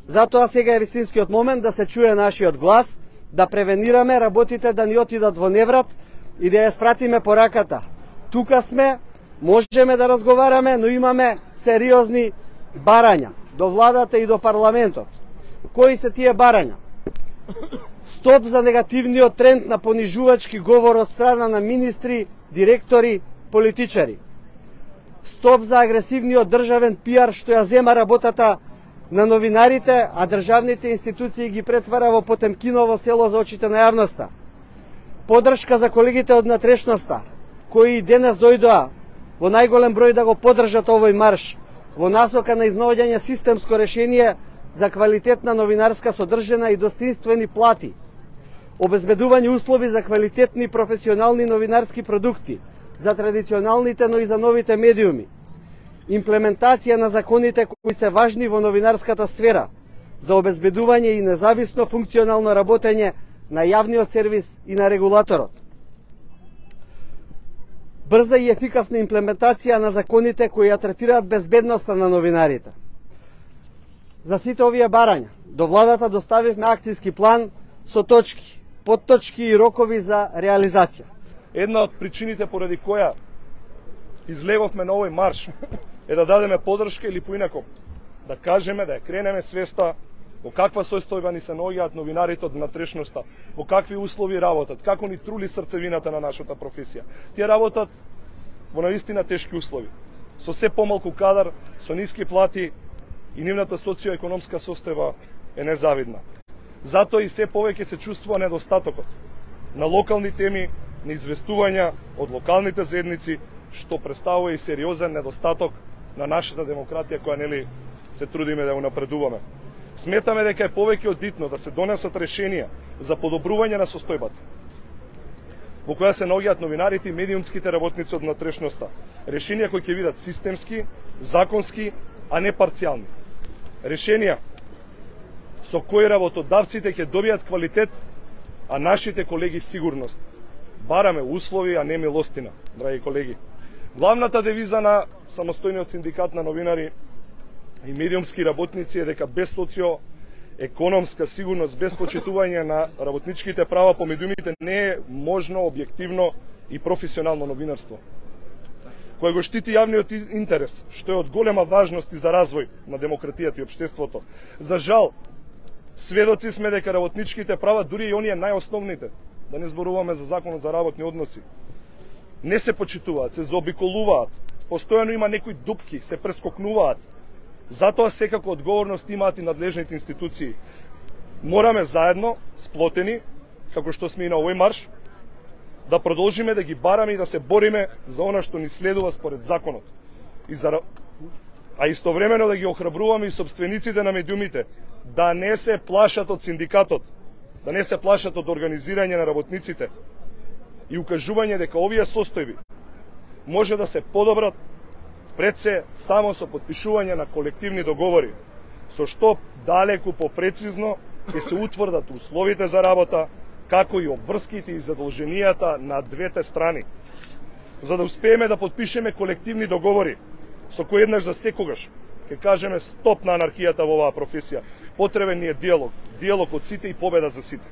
Затоа сега е вистинскиот момент да се чуе нашиот глас, да превенираме работите да ни отидат во неврат и да ја спратиме пораката. Тука сме, можеме да разговараме, но имаме сериозни барања до владата и до парламентот. Кои се тие барања? Стоп за негативниот тренд на понижувачки говор од страна на министри, директори, политичари. Стоп за агресивниот државен пиар што ја зема работата на новинарите, а државните институции ги претвара во Потемкиново село за очите на јавноста. Подршка за колегите од натрешноста, кои денес дојдоа во најголем број да го поддржат овој марш, во насока на изнаоѓање системско решение за квалитетна новинарска содржина и достоинствени плати, обезбедување услови за квалитетни професионални новинарски продукти, за традиционалните, но и за новите медиуми, имплементација на законите кои се важни во новинарската сфера, за обезбедување и независно функционално работење на јавниот сервис и на регулаторот. Брза и ефикасна имплементација на законите кои ја третираат безбедноста на новинарите. За сите овие барања, до владата доставивме акцијски план со точки, подточки и рокови за реализација. Една од причините поради која излеговме на овој марш е да дадеме поддршка или поинако да кажеме, да ја кренеме свеста во каква состојба ни се наоѓаат новинарите од натрешноста, во какви услови работат, како ни трули срцевината на нашата професија. Тие работат во наистина тешки услови, со се помалку кадар, со ниски плати и нивната социоекономска состојба е незавидна. Затоа и се повеќе се чувствува недостатокот на локални теми, на известувања од локалните заедници, што представува и сериозен недостаток на нашата демократија која нели се трудиме да ја унапредуваме. Сметаме дека е повеќе од битно да се донесат решенија за подобрување на состојбата во која се наоѓаат новинарите и медиумските работници од натрешноста. Решенија кои ќе бидат системски, законски, а не парцијални. Решенија со кои работодавците ќе добијат квалитет, а нашите колеги сигурност. Бараме услови, а не милостина, драги колеги. Главната девиза на самостојниот синдикат на новинари и медиумски работници е дека без социоекономска сигурност, без почитување на работничките права по медиумите не е можно објективно и професионално новинарство, кој го штити јавниот интерес, што е од голема важност и за развој на демократијата и општеството. За жал, сведоци сме дека работничките права, дури и оние најосновните, да не зборуваме за законот за работни односи, не се почитуваат, се заобиколуваат, постојано има некои дупки, се прескокнуваат. Затоа секако одговорност имаат и надлежните институции. Мораме заедно, сплотени, како што сме и на овој марш, да продолжиме да ги бараме и да се бориме за она што ни следува според законот. А истовремено да ги охрабруваме и собствениците на медиумите да не се плашат од синдикатот, да не се плашат од организирање на работниците и укажување дека овие состојби може да се подобрат пред се само со потпишување на колективни договори, со што далеку попрецизно ќе се утврдат условите за работа, како и обврските и задолженијата на двете страни. За да успееме да потпишеме колективни договори, со кои еднаш за секогаш ќе кажеме стоп на анархијата во оваа професија. Потребен ни е диалог, диалог од сите и победа за сите.